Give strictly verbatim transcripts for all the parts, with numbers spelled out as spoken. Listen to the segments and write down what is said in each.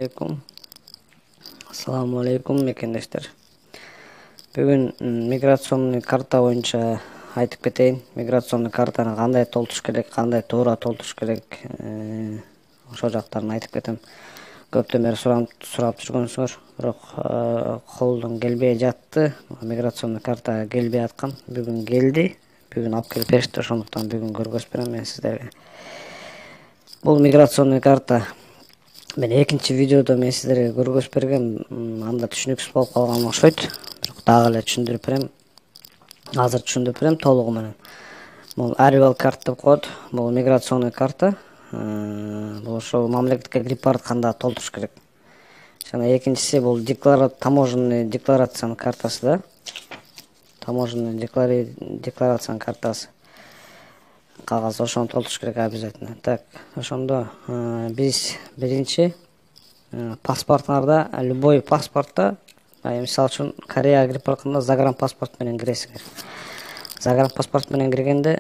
Алейкум. Ассаламу алейкум мекендештер. Бүгүн миграционный карта боюнча айтып кетейин. Миграционный картаны кандай толтуруш керек, кандай туура толтуруш керек, ошол жактарын айтып кетем. Көптөн бери сурап жүргөнсүңөр, бирок колдон келбей жатты. Миграционный карта келбей аткан. Бүгүн келди. Бүгүн алып келип беришти, ошондуктан бүгүн көргөзүп берем мен сиздерге. Бул миграционный карта мен экинчи видеодо мен сиздерге көргөзүп бергем, анда түшүнүксүз болуп калган окшойт. Бирок дагы эле түшүндүрүп берем. Азыр түшүндүрүп берем толугу менен. Бул arrival card деп коет. Бул миграционный карта. Бул ошол мамлекетке кирип баратканда толтуруш керек. Жана экинчиси бул декларат таможенный декларациянын картасы да. Таможенный декларациянын картасы. Кагаз ошону толтуруш керек обязательно. Так, ошондо биз биринчи паспортуңарда, любой паспортто, мисалы үчүн Кореяга кирип баратканда загранпаспорт менен киресиңер. Загранпаспорт менен киргенде,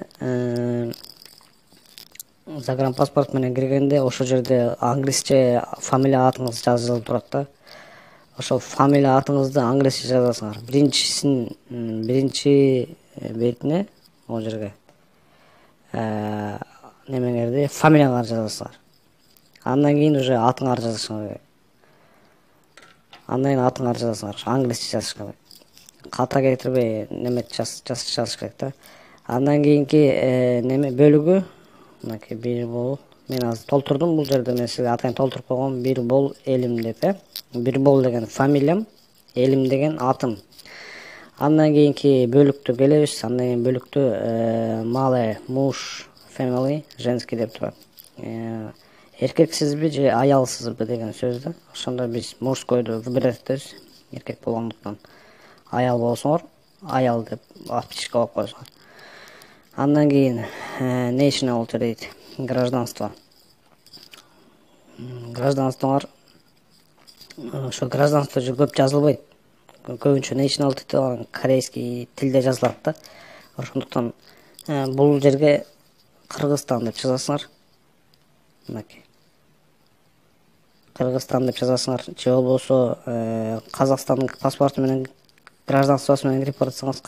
загранпаспорт менен киргенде ошол жерде англисче фамилия атыңыз жазылып турат да. Ошол фамилия атыңызды англисче жазасыңар. Биринчисин биринчи бетине могу жерге немеңерди, фамилияңарды жазасыңар. Андан кийин уже атыңарды жазышыңар керек. Андан кийин атыңарды жазасыңар. Англисче жазыш керек. Ката кетирбей неме жазыш керек да. Андан кийинки неме бөлүгү, мынакей бир бол. Мен азыр толтурдум бул жерде, мен сизге атайын толтуруп койгом. Бир бол элим деп, э. Бир бол деген фамилиям, элим деген атым. Андан кийинки бөлүктү келебиз. Андан кийин бөлүктү малый, муж, family, женский деп турат. Эркексизби же аялсызбы деген сөз да. Ошондо биз мужскойду выбирать этебиз. Эркек болгондуктан аял болсоңор, аял деп отпечатка коюп койсоңор. Андан кийин nationality дейт, гражданство. Гражданствоңор ошо гражданство же көп жазылбайт. Көбүнчө nationality деп корейский тилде жазылат да. Ошондуктан бул жерге Кыргызстан деп жазасыңар. Мынакей. Кыргызстан деп жазасыңар. Же болбосо Казакстандын паспорту менен гражданствосу менен кирип барсаңыз,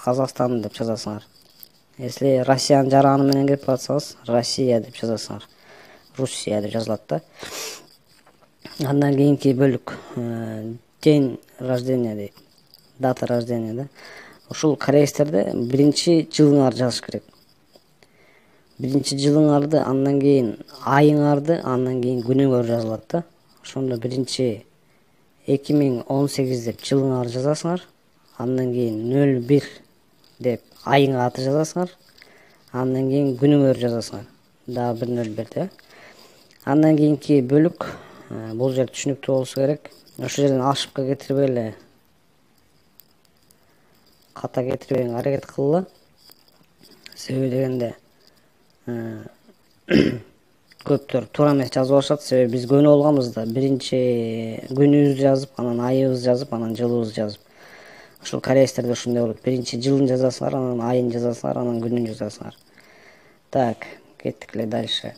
Казакстан деп жазасыңар. Если Россиянын жараны менен кирип барсаңыз, Россия деп жазасыңар. Руссия деп жазылат да. Андан кийинки бөлүк день рождения дейт. Дата рождения да. Ушул корейстерде биринчи жылыңарды жазыш керек. Биринчи жылыңарды, андан кийин айыңарды, андан кийин күнүңөр жазылат да. Ошондо биринчи эки миң он сегиз деп жылыңарды жазасыңар. Андан кийин нөл бир деп айың аты жазасыңар. Андан кийин күнүңөр жазасыңар. Дагы бир нөл бир деп. Андан кийинки бөлүк, бул жер түшүнүктүү болсо керек. Ошол жерден ошибка кетирбей эле, ката кетирбей аракет кылгыла. Себеби дегенде көптөр туура эмес жазып алышат. Себеби биз көнүп алганбыз да, биринчи күнүбүздү жазып, анан айыбызды жазып, анан жылыбызды жазып. Ошол корейстерде ушундай болот. Биринчи жылын жазасыңар, анан айын жазасыңар, анан күнүн жазасыңар. Так, кеттик эле дальше.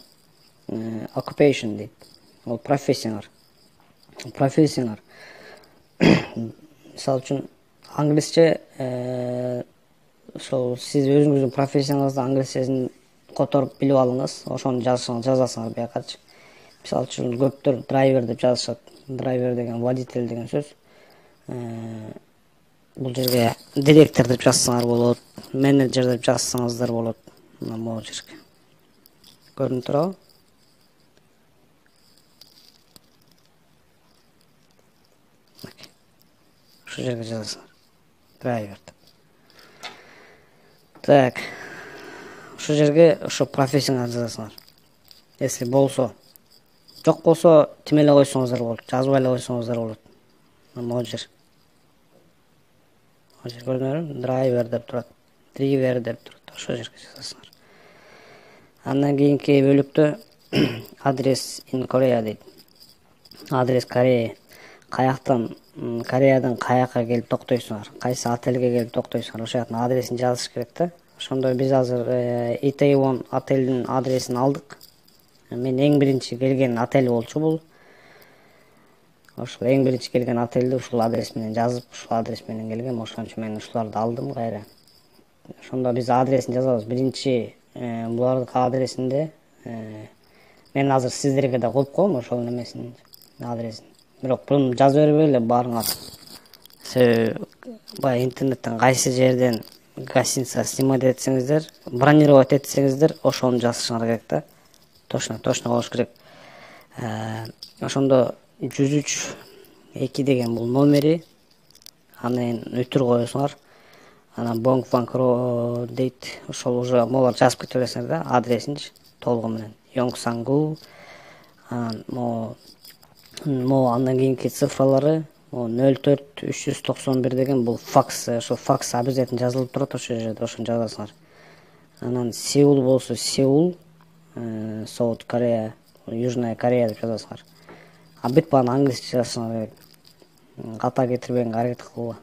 Occupation дейт. Ол профессияңар. Профессияңар. Мисалы үчүн англисче, ошол сиз өзүңүздүн профессияңызды англисчесин которуп билип алыңыз, ошону жазасыңар биякачы. Мисалы үчүн көптөр драйвер деп жазышат. Драйвер деген водитель деген сөз. Бул жерге директор деп жазсаңар болот, менеджер деп жазсаңыздар болот. Мына могу жерге. Көрүнүп турабы? Ошол жерге жазасыңар. Драйвер деп. Так. Ошол жерге ошо профессияңарды жазасыңар. Если болсо, жок болсо тим эле койсоңуздар болот, жазбай эле койсоңуздар болот. Могу жер. Могу жер көрдүңөрбү? Драйвер деп турат, драйвер деп турат. Ошол жерге жазасыңар. Андан кийинки бөлүктө адрес in Korea дейт. Адрес Корея. Каяктан, Кореядан каяка келип токтойсуңар, кайсы отелге келип токтойсуңар, ошол жактын адресин жазыш керек да. Ошондо биз азыр Itaewon отелдин адресин алдык. Мен эң биринчи келген отель болчу бул. ошол эң биринчи келген отельди ушул адрес менен жазып, ушул адрес менен келгем. Ошон үчүн мен ушуларды алдым кайра. Ошондо биз адресин жазабыз. Биринчи булардын адресинде мен азыр сиздерге да коюп коем ошол немесин адресин. Бирок буну жазып бербей эле баарыңар. Себеби баягы интернеттен кайсы жерден гостиница снимать этсеңиздер, бронировать этсеңиздер, ошону жазышыңар керек да. Точно, точно болуш керек. Ошондо жүз үч эки деген бул номери, анан өтүр коесуңар. Анан Бонг Фанкро дейт. Ошол уже могулар жазып кете бересиңер да, адресинчи толугу менен. Йонгсангу. Анан могу могу андан кийинки цифралары нөл төрт үч жүз токсон бир деген бул факс. Ошо факс обязательно жазылып турат ошол жерде, ошону жазасыңар. Анан Сеул болсо Сеул, South Korea, Южная Корея деп жазасыңар. А бүт бааны англисче жазасыңар керек. Ката кетирбегенге аракет кылгыла.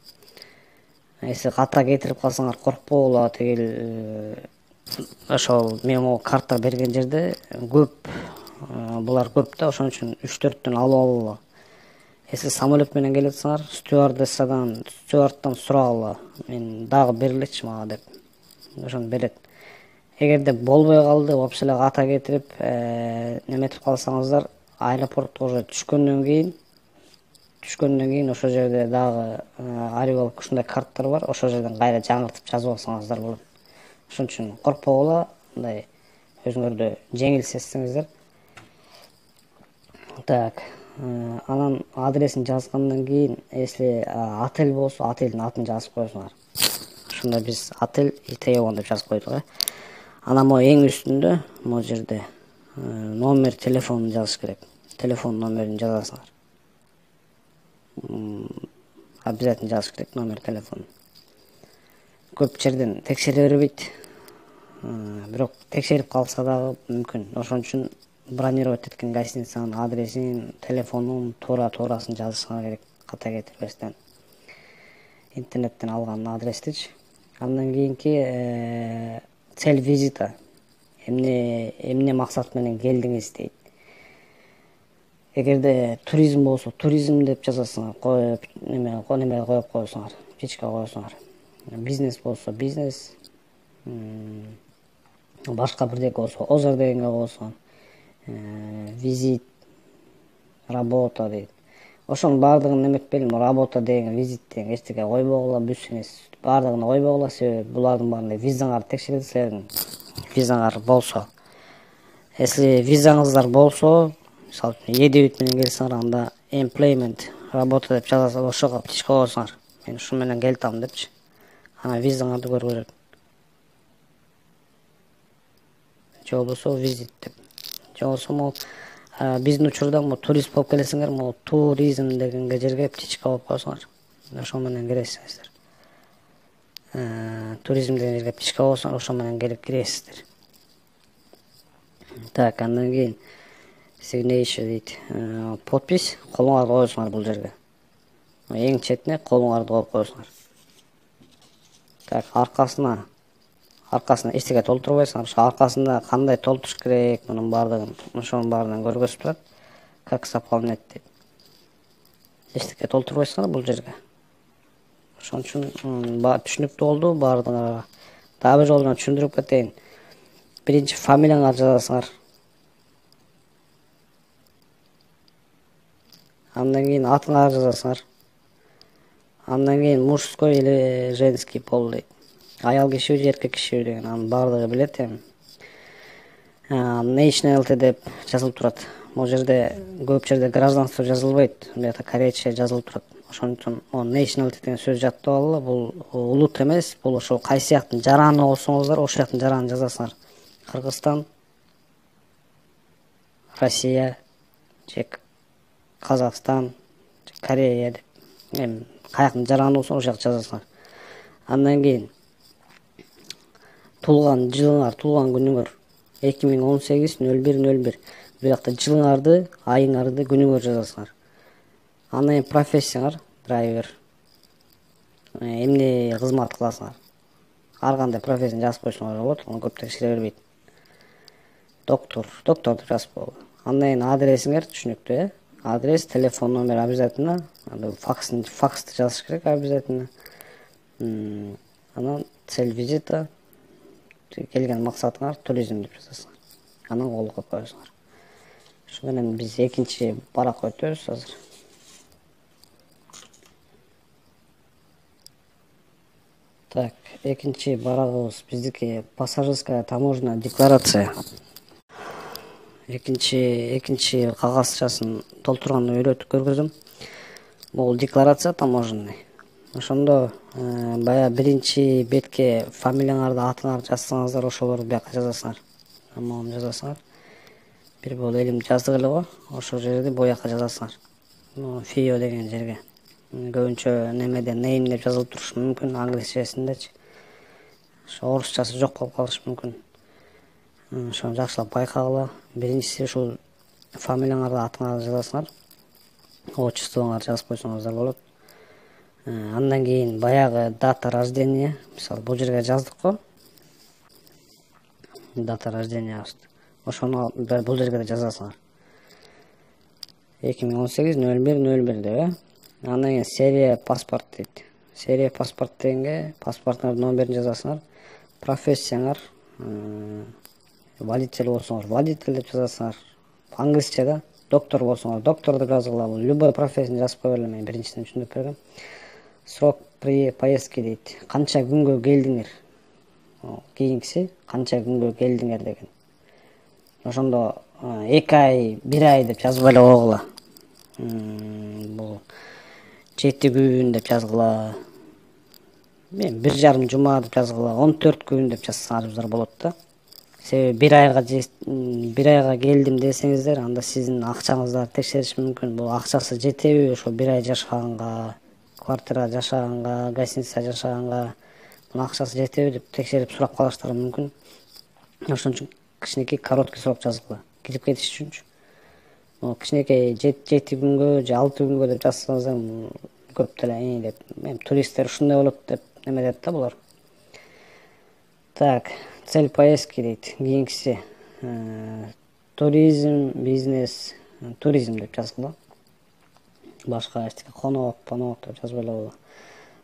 Если ката кетирип калсаңар коркпогула, тигил ошол мен могу карта берген жерде көп, булар көп да, ошон үчүн үч төрттөн алып алгыла. Если самолет менен келатсаңар, стюардессадан, стюардтан сурагыла. Мен дагы берилечи мага деп. Ошону берет. Эгерде болбой калды, вообще эле ката кетирип, неметип калсаңыздар, аэропортко уже түшкөндөн кийин, түшкөндөн кийин ошол жерде дагы аривалык ушундай карттар бар, ошол жерден кайра жаңыртып жазып алсаңыздар болот. Ошон үчүн коркпогула, мындай өзүңөрдү жеңил сезсеңиздер. Так, анан адресин жазгандан кийин, если отель болсо, отельдин атын жазып коесуңар. Ошондо биз отель Itaewon деп жазып койдук, э. Анан могу эң үстүндө, могу жерде номер телефонун жазыш керек. Телефон номерин жазасыңар. Обязательно жазыш керек номер телефон. Көп жерден текшере бербейт. Бирок текшерип калса дагы мүмкүн. Ошон үчүн бронировать эткен гостиницанын адресин, телефонун туура-туурасын жазышыңар керек, ката кетирбестен. Интернеттен алган адрестичи. Андан кийинки цель визита. Эмне эмне максат менен келдиңиз дейт. Эгерде туризм болсо, туризм деп жазасыңар, коюп, неме, неме коюп коесуңар, птичка коесуңар. Бизнес болсо, бизнес. Башка бирдеке болсо, озер дегенге коесуңар. Визит, работа дейт. Ошонун баардыгын неметпейли, работа деген, визит деген эчтеке койбогула, бүсүңүз. Баардыгын койбогула, себеби булардын баарын визаңарды текшерет силердин. Визаңар болсо. Если визаңыздар болсо, мисалы үчүн едебит менен келсеңер, анда employment, работа деп жазасыңар, ошого птичка коесуңар. Мен ушу менен келтам депчи. Анан визаңарды көрүп берет. Же болбосо визит деп. Же болбосо могу биздин учурда могу турист болуп келесиңер, могу туризм дегенге жерге птичка коюп коесуңар. Ошо менен киресиңер. Туризм деген жерге птичка коесуңар, ошо менен келип киресиздер. Так, андан кийин signature дейт. Подпись колуңарды коесуңар бул жерге. Эң четине колуңарды коюп коесуңар. Так, аркасына аркасына эчтеке толтурбайсыңар. Ошо аркасында кандай толтуруш керек, мунун баардыгын, ошонун баарын көргөзүп турат. Как заполнять дейт. Эчтеке толтурбайсыңар бул жерге. Ошон үчүн түшүнүктүү болду баардыгына. Дагы бир жолу түшүндүрүп кетейин. Биринчи фамилияңарды жазасыңар. Андан кийин атыңарды жазасыңар. Андан кийин мужской или женский пол дейт. Аял кишиби же эркек кишиби деген, анын баардыгы билет эми. Nationality деп жазылып турат. Могу жерде көп жерде гражданство жазылбайт, бuyакта корейче жазылып турат. Ошон үчүн nationality деген сөз жаттап алгыла. Бул улут эмес, бул ошо кайсы жактын жараны болсоңуздар, ошол жактын жаранын жазасыңар. Кыргызстан, Россия, же Казакстан, Корея деп. Эми каяктын жараны болсо ошол жакты жазасыңар. Андан кийин туулган жылыңар, туулган күнүңөр эки миң он сегиз нөл бир нөл бир. Бuyакта жылыңарды, айыңарды, күнүңөрдү жазасыңар. Андан кийин профессияңар, драйвер. Эмне кызмат кыласыңар? Ар кандай профессияны жазып койсоңор болот, аны көп текшере бербейт. Доктор, доктор деп жазып койгула. Андан кийин адресиңер түшүнүктүү, э? адрес, телефон номер обязательно, факс факсты жазыш керек обязательно. Анан цель визита, келген максатыңар туризм деп жазасыңар. Анан кол коюп коесуңар. Ошо менен биз экинчи баракка өтөбүз азыр. Так, экинчи барагыбыз биздики пассажирская таможенная декларация. Экинчи экинчи кагазчасын толтурганды үйрөтүп көргөзөм. Бул декларация таможенный. Ошондо бая биринчи бетке фамилияңарды, атыңарды жазсаңыздар, ошолорду бияка жазасыңар. Амалын жазасыңар. Бир боло элим жаздык эле го, ошол жерди бояка жазасыңар. Фио деген жерге. Көбүнчө немеде name деп жазылып турушу мүмкүн, англисчесиндечи. Ошо орусчасы жок болуп калышы мүмкүн. Ошону жакшылап байкагыла. Биринчиси ушул фамилияңарды, атыңарды жазасыңар. Отчествоңарды жазып койсоңуздар болот. Андан кийин баягы дата рождения, мисалы бул жерге жаздык го. Дата рождения. Ошону бул жерге да жазасыңар. эки миң он сегиз нөл бир нөл бир деп, э? Андан кийин серия паспорт дейт. Серия паспорт дегенге паспорттун номерин жазасыңар. Профессияңар, водитель болсоңуз водитель деп жазасыңар. Англисче да. Доктор болсоңуз доктор деп жазгыла. Бул любой профессияны жазып кое берем, мен биринчиден түшүндүрүп бергем. Срок при поездке дейт. Канча күнгө келдиңер? Кийинкиси канча күнгө келдиңер деген. Ошондо эки ай, бир ай деп жазып эле койгула. Бул жети күн деп жазгыла. Мен бир жарым жума деп жазгыла, он төрт күн деп жазсаңарыздар болот да. Себеби бир айга бир айга келдим десеңиздер, анда сиздин акчаңыздарды текшериш мүмкүн. Бул акчасы жетеби ошо бир ай жашаганга, квартира жашаганга, гостиница жашаганга, мына акчасы жетеби деп текшерип сурап калыштары мүмкүн. Ошон үчүн кичинекей короткий срок жазгыла. Кирип кетиш үчүнчү. Кичинекей жети күнгө же алты күнгө деп жазсаңыздар көп деле деп. Мен туристтер ушундай болот деп неме дейт да булар. Так, цель поездки дейт. Кийинкиси туризм, бизнес, туризм деп жазгыла. Башка эчтеке конок, понок деп жазып эле койгула.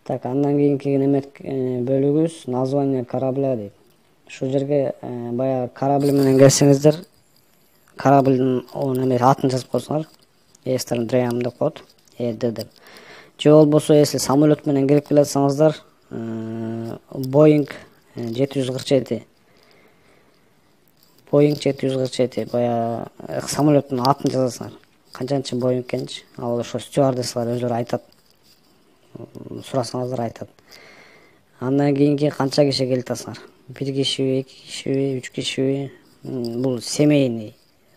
Так, андан кийинки неме бөлүгүбүз название корабля дейт. Ушул жерге баягы корабль менен келсеңиздер, кораблдын неме атын жазып койсоңар, Eastern Dream деп коет, Э Д деп. Же болбосо, если самолет менен келип келатсаңыздар, Boeing жети жүз кырк жети. Boeing жети жүз кырк жети, баягы самолеттун атын жазасыңар. Канчанчы Boeing экенчи, ал ошо стюардессалар өзүлөрү айтат. Сурасаңыздар айтат. Андан кийинки канча киши келатасыңар? бир кишиби, эки кишиби, үч кишиби? Бул семейный,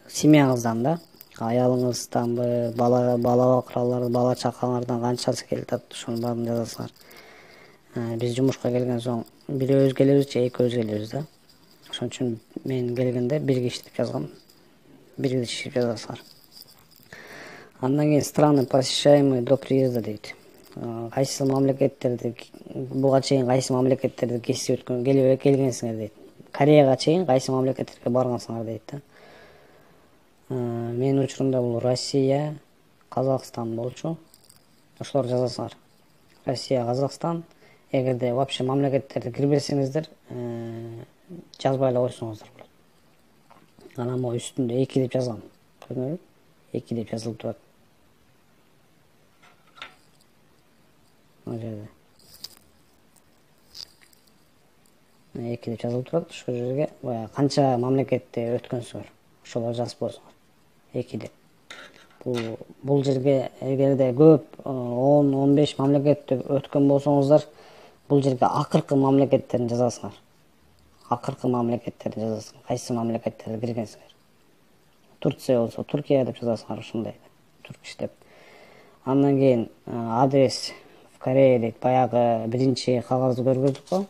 семьяңыздан да, аялыңызданбы, бала бала бакыралар, бала чакаңардан канчасы келатат, ошонун баарын жазасыңар. Биз жумушка келген соң бирөөбүз келебиз же экөөбүз келебиз да. Ошон үчүн мен келгенде бир киши деп жазгам. Бир киши деп жазасыңар. Андан кийин страны посещаемые до приезда дейт. Кайсы мамлекеттерди буга чейин кайсы мамлекеттерди кесип өткөн келип келгенсиңер дейт. Кореяга чейин кайсы мамлекеттерге баргансыңар дейт да. Менин учурумда бул Россия, Казакстан болчу. Ошолор жазасыңар. Россия, Казакстан. Эгерде вообще мамлекеттерди кирбесеңиздер, жазбай эле койсоңуздар болот. Анан могу үстүндө эки деп жазгам. Көрдүңүзбү? эки деп жазылып турат. Жерде эки деп жазылып турат. Ошол жерге баягы канча мамлекетте өткөнсүңөр, ошолорду жазып койсоңор. эки деп. Бул бул жерге эгерде көп он он беш мамлекетте өткөн болсоңуздар, бул жерге акыркы мамлекеттерин жазасыңар. Акыркы мамлекеттерди жазасыңар. Кайсы мамлекеттерге киргенсиңер? Турция болсо Туркия деп жазасыңар, ушундай. Туркиш деп. Андан кийин адрес Корея дейт. Баягы биринчи кагазды көргөздүк го.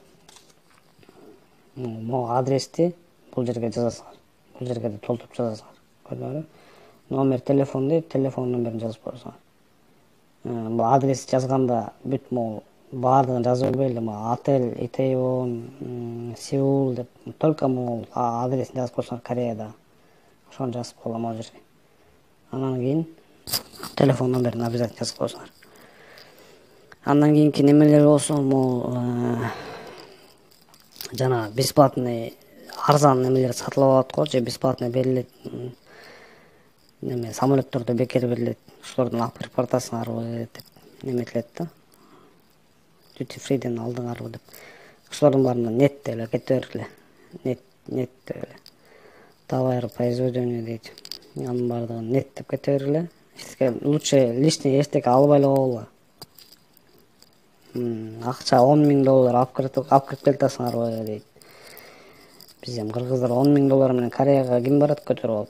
Могу адрести бул жерге жазасыңар. Бул жерге да толтуруп жазасыңар. Көрдүңүзбү? Номер телефон дейт, телефон номерин жазып койсоңор. Бул адрес жазганда бүт могу баардыгын жазып бербейли, могу отель Itaewon, Сеул деп, только могу адресин жазып койсоңор Кореяда. Ошону жазып койгом ал жерге. Анан кийин телефон номерин обязательно жазып койсуңар. Андан кийинки немелер болсо, могу жана бесплатный арзан немелер сатылып алат го, же бесплатный берилет. Неме самолеттордо бекер берилет. Ошолордон алып кирип баратасыңарбы деп неметилет да. Duty free'ден алдыңарбы деп. Ошолордун баарына нет деп эле кете бергиле. Нет, нет деп эле. Товар произведения дейт. Анын баардыгын нет деп кете бергиле. Лучше лишний эчтеке албай эле койгула. Акча он миң доллар алып кирип алып кирип келатасыңарбы дейт. Биз эми кыргыздар он миң доллар менен Кореяга ким барат көтөрүп алып?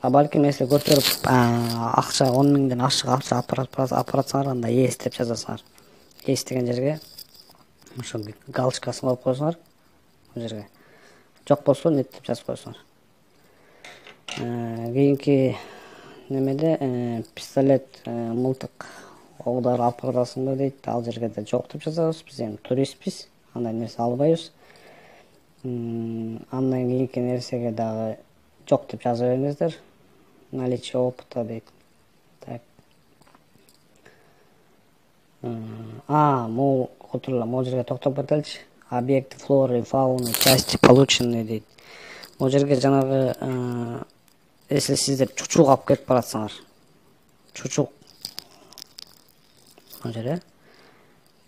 А балким эсе көтөрүп акча он миңден ашык акча алып баратсаңар, анда ес деп жазасыңар. Ес деген жерге ошо галочкасын коюп койсоңар, бул жерге. Жок болсо нет деп жазып койсоңар. Кийинки немеде пистолет, мылтык, оғдар алып барасыңбы дейт. Ал жерге да жок деп жазабыз. Биз эми туристпиз, андай нерсе албайбыз. Андан кийинки нерсеге дагы жок деп жаза бериңиздер. Наличие опыта дейт. Так. А, могу отурула, могу жерге токтоп кетеличи. Объекты флоры, фауны, части полученные дейт. Могу жерге жанагы, если сиздер чучук алып келип баратсаңар, чучук могу жерге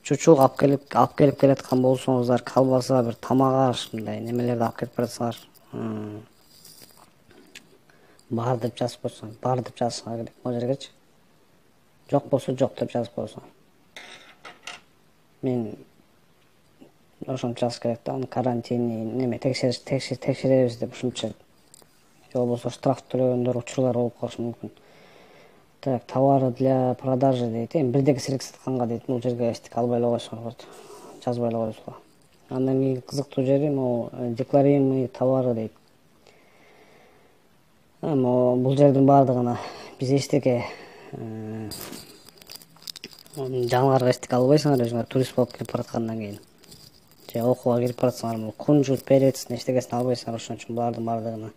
чучук алып келип алып келип келаткан болсоңуздар, колбаса, бир тамак аш, мындай немелерди алып келип баратсаңар, бар деп жазып койсоң, бар деп жазсаңар керек могу жергечи. Жок болсо жок деп жазып койсоңар. Мен ошончо жазыш керек да, аны карантинный неме текшериш текшеребиз деп ушунча. Же болбосо штраф төлөгөндөр учурлар болуп калышы мүмкүн. Так, товары для продажи дейт. Эми бирдеги сирек сатканга дейт, бул жерге эчтеке албай эле койсоңор болот. Жазбай эле койсуңар. Андан кийин кызыктуу жери могу декларируемый товары дейт. Эми бул жердин баардыгына биз эчтеке жаныбарга эчтеке албайсыңар, өзүңөр турист болуп кирип бараткандан кийин. Же окууга кирип баратсаңар, кунжут, перецин эчтекесин албайсыңар, ошон үчүн булардын баардыгына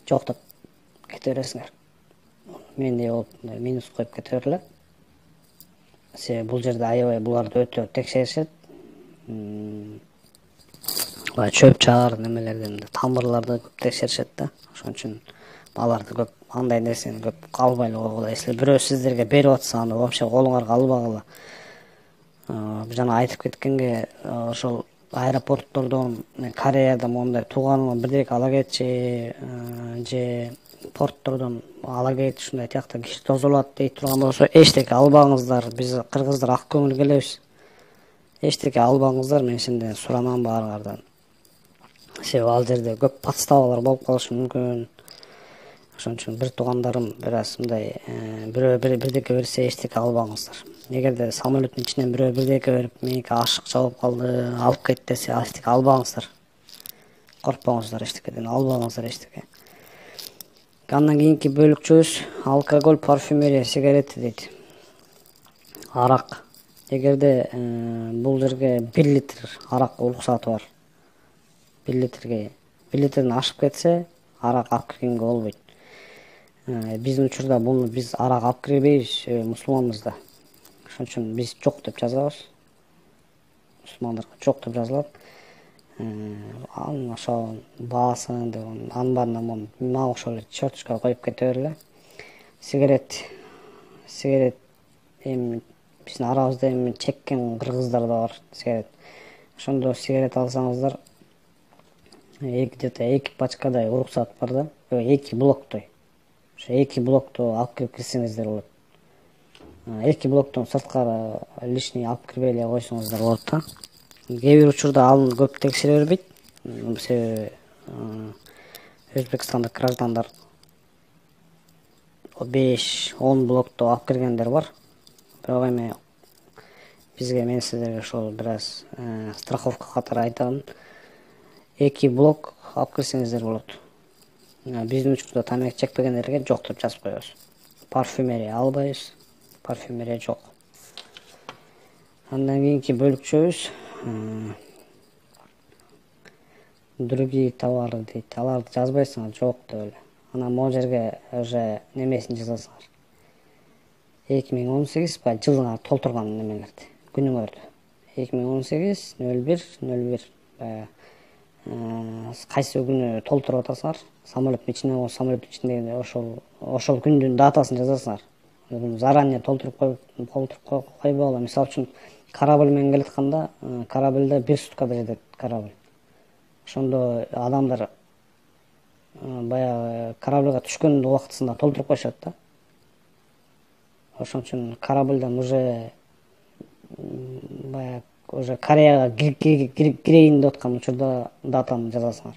жок деп кете бересиңер. Мендей болуп минус коюп кете бергиле. Себеби бул жерде аябай буларды өтө текшеришет. Бай чөп чаар немелерден, тамырларды көп текшеришет да. Ошон үчүн аларды көп, андай нерсени көп албай эле койгула. Если бирөө сиздерге берип атса, аны вообще колуңарга албагыла. Жана айтып кеткенге, ошол аэропорттордон Кореяда мондай тууганыңа бирдеке ала кетчи, же порттордон ала кет, ушундай тиякта киши тосулат дейт турган болсо, эчтеке албаңыздар. Биз кыргыздар ак көңүл келебиз. Эчтеке албаңыздар, мен сенден суранам баарыңардан. Себеби ал жерде көп подставалар болуп калышы мүмкүн. Ошон үчүн бир туугандарым бир аз мындай бирөө бирдеке берсе эчтеке албаңыздар. Эгерде самолеттин ичинен бирөө бирдеке берип, меники ашыкча болуп калды, алып кет десе, эчтеке албаңыздар. Коркпоңуздар эчтекеден, албаңыздар эчтеке. Андан кийинки бөлүкчөбүз алкоголь, парфюмерия, сигарети дейт. Арак. Эгерде бул жерге бир литр арак уруксаты бар. бир литрге, бир литрден ашып кетсе, арак алып киргенге болбойт. Биздин учурда буну биз арак алып кирбейбиз, мусулманбыз да. Ошон үчүн биз жок деп жазабыз. Мусулмандарга жок деп жазылат. Анын ошо баасын деп, анын баарына мага ошол эле черточка коюп кете бергиле. Сигарет. Сигарет эми биздин арабызда эми чеккен кыргыздар да бар сигарет. Ошондо сигарет алсаңыздар, где-то эки пачкадай уруксат бар да, эки блоктой. Ошо эки блокту алып кирип кирсеңиздер болот. Эки блоктон сырткары лишний алып кирбей эле койсоңуздар болот да. Кээ бир учурда аны көп текшере бербейт. Себеби Өзбекстандык граждандар беш он блокту алып киргендер бар. Бирок эми бизге, мен сиздерге ошол бир аз страховка катары айтам. Эки блок алып кирсеңиздер болот. Биздин учурда тамак чекпегендерге жок деп жазып коебуз. Парфюмерия албайбыз. Парфюмерия жок. Андан кийинки бөлүкчөбүз другие товары дейт. Аларды жазбайсыңар, жок деп эле. Анан могу жерге уже немесин жазасыңар. эки миң он сегиз баягы жылыңар толтурган немелерди, күнүңөрдү. эки миң он сегиз нөл бир нөл бир баягы кайсы күнү толтуруп атасыңар. Самолеттин ичине, самолеттин ичиндеги ошол ошол күндүн датасын жазасыңар. Заранее толтуруп коюп толтуруп койбогула. Мисалы үчүн корабль менен келатканда, корабльде бир суткада жетет корабль. Ошондо адамдар баягы корабльга түшкөн убактысында толтуруп коюшат да. Ошон үчүн корабльден уже баягы уже Кореяга кирейин деп аткан учурда датаны жазасыңар.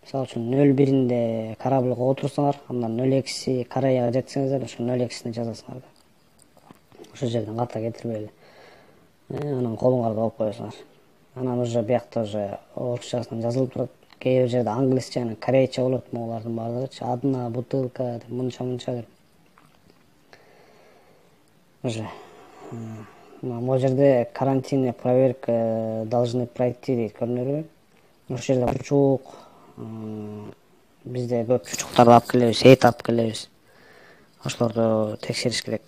Мисалы үчүн нөл биринде корабльга отурсаңар, андан нөл экиси Кореяга жетсеңиздер, ошо нөл экисине жазасыңар да. Ошол жерден ката кетирбей эле. Анан колуңарда алып коесуңар. Анан уже биякта уже орусчасынан жазылып турат. Кээ бир жерде англисче жана корейче болот могулардын баардыгычы. Одна бутылка деп мынча мынча деп. Уже могу жерде карантинная проверка должны пройти дейт, көрүнөрбү? Ошол жерде чучук, бизде көп чучуктарды алып келебиз, эт алып келебиз. Ошолорду текшериш керек.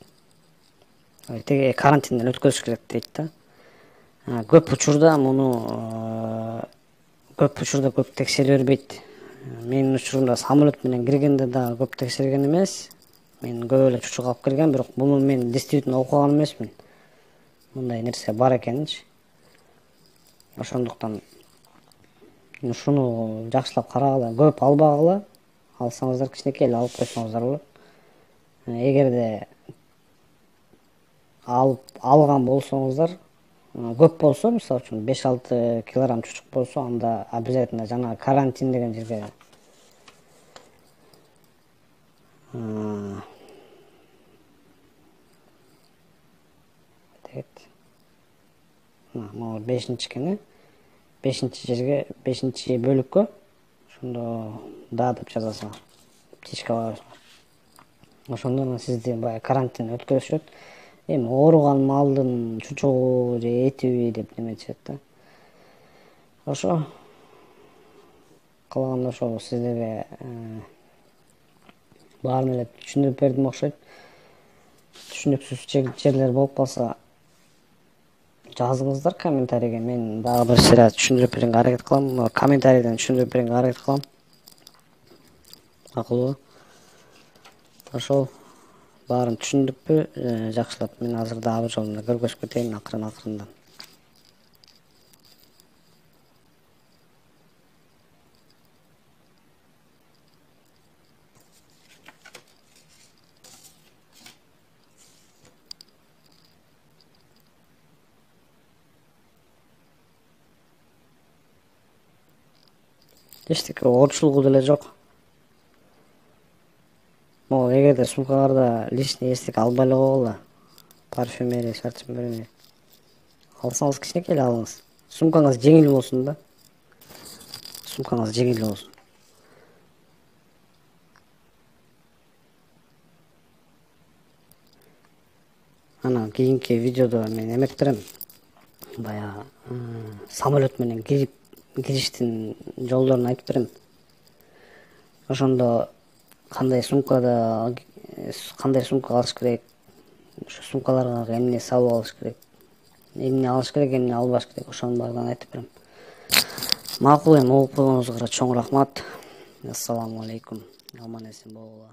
Теге карантинден өткөзүш керек дейт да. Көп учурда муну көп учурда көп текшере бербейт. Менин учурумда самолет менен киргенде да көп текшерген эмес. Мен көп эле чучук алып келгем, бирок буну мен действительно окуган эмесмин. Мындай нерсе бар экенинчи. Ошондуктан ушуну жакшылап карагыла, көп албагыла. Алсаңыздар кичинекей эле алып койсоңуздар болот. Эгерде алып алган болсоңуздар, көп болсо, мисалы үчүн беш алты килограмм чучук болсо, анда обязательно жана карантин деген жерге могу бешинчи экен, бешинчи жерге, бешинчи бөлүккө ошондо да деп жазасыңар. Птичка коесуңар. Ошондо сизди баягы карантин өткөзүшөт. Эми ооруган малдын чучугу же этиби деп неметишет да. Ошо калганда ошол сиздерге баарын эле түшүндүрүп бердим окшойт. Түшүнүксүз жерлер болуп калса жазыңыздар комментарийге. Мен дагы бир сыйра түшүндүрүп берүүгө аракет кылам. Комментарийден түшүндүрүп берүүгө аракет кылам. Макулбу? Ошол баарын түшүндүкпү? Жакшылап мен азыр дагы бир жолу көргөзүп кетейин акырын акырындан. Эчтеке оорчулугу деле жок. Могу эгерде сумкаңарда лишний эчтеке албай эле койгула. Парфюмерия, парфюмерия алсаңыз кичинекей эле алыңыз. Сумкаңыз жеңил болсун да. Сумкаңыз жеңил болсун. Анан кийинки видеодо мен эмет берем. Баягы самолет менен кирип кириштин жолдорун айтып берем. Ошондо кандай сумкада кандай сумка алыш керек, ошо сумкаларга эмне салып алыш керек, эмне алыш керек, эмне албаш керек, ошонун баарын айтып берем. Макул, эми угуп койгонуңузга чоң рахмат. Ассаламу алейкум. Аман эсен болгула.